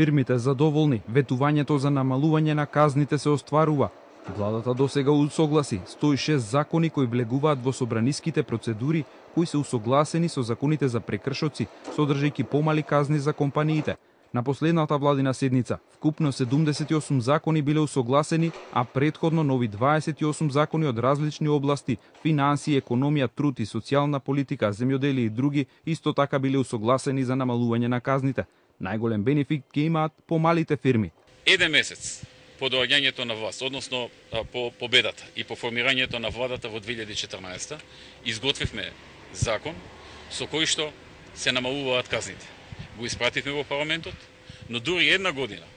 фирмите задоволни, ветувањето за намалување на казните се остварува. Владата досега усогласи 106 закони кои влегуваат во собраниските процедури, кои се усогласени со законите за прекршоци, содржајќи помали казни за компаниите. На последната владина седница, вкупно 78 закони биле усогласени, а претходно нови 28 закони од различни области, финансии, економија, труд и социјална политика, земјоделие и други, исто така биле усогласени за намалување на казните. Најголем бенефит ќе имаат помалите фирми. Еден месец по доаѓањето на власт, односно по победата и по формирањето на владата во 2014, изготвивме закон со кој што се намалуваат казните. Го испративме во парламентот, но дури една година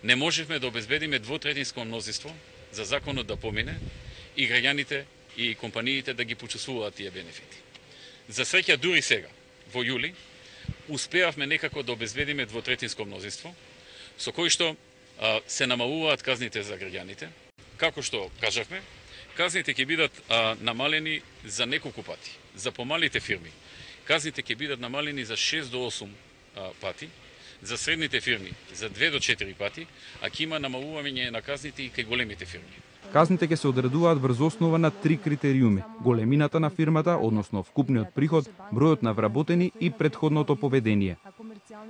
не можевме да обезбедиме двотретинско мнозинство за законот да помине и граѓаните и компаниите да ги почувствуваат тие бенефити. За среќа дури сега, во јули, успеавме некако да обезбедиме двотретинско мнозинство, со кој што се намалуваат казните за граѓаните. Како што кажавме, казните ќе бидат намалени за неколку пати. За помалите фирми, казните ќе бидат намалени за 6 до 8 пати, за средните фирми за 2 до 4 пати, а ќе има намалување на казните и кај големите фирми. Казните ќе се одредуваат врз основа на 3 критериуми: големината на фирмата, односно вкупниот приход, бројот на вработени и претходното поведение.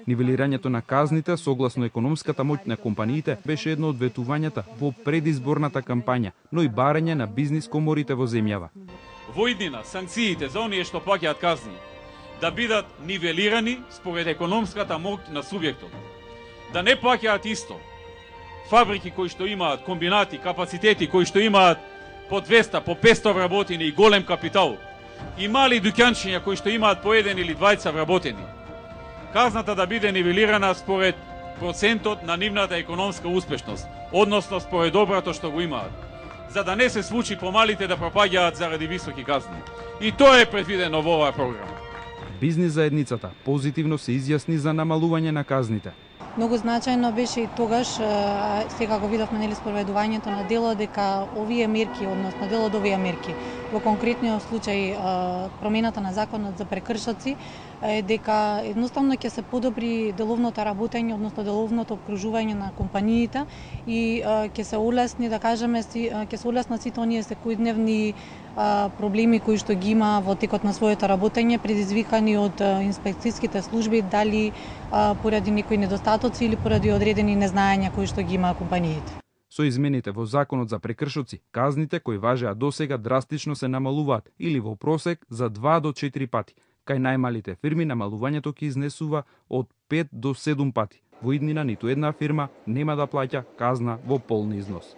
Нивелирањето на казните согласно економската моќ на компаниите беше едно од ветувањата во предизборната кампања, но и барање на бизнис коморите во земјава. Во иднина санкциите за оние што плаќаат казни да бидат нивелирани според економската моќ на субјектот. Да не плаќаат исто фабрики кои што имаат комбинати, капацитети кои што имаат по 200, по 500 вработени и голем капитал, и мали дуќанчиња кои што имаат по 1 или 2 вработени. Казната да биде нивелирана според процентот на нивната економска успешност, односно според доброто што го имаат, за да не се случи помалите да пропаѓаат заради високи казни. И тоа е предвидено во оваа програма. Бизнис заедницата позитивно се изјасни за намалување на казните. Многу значајно беше и тогаш, сега го видовме нели спроведувањето на дело, дека овие мерки, односно дел од овие мерки, во конкретниот случај промената на законот за прекршоци, дека едноставно ќе се подобри деловното работење, односно деловното обкружување на компаниите и ќе се улесни, да кажеме, ќе се улеснат сите оние секојдневни проблеми кои што ги има во текот на своето работење, предизвикани од инспекцијските служби, дали поради некои недостатоци или поради одредени незнаења кои што ги има компаниите. Со измените во законот за прекршоци, казните кои важеа досега драстично се намалуваат или во просек за 2 до 4 пати. Кај најмалите фирми намалувањето ќе изнесува од 5 до 7 пати. Во иднина ниту една фирма нема да плаќа казна во полн износ.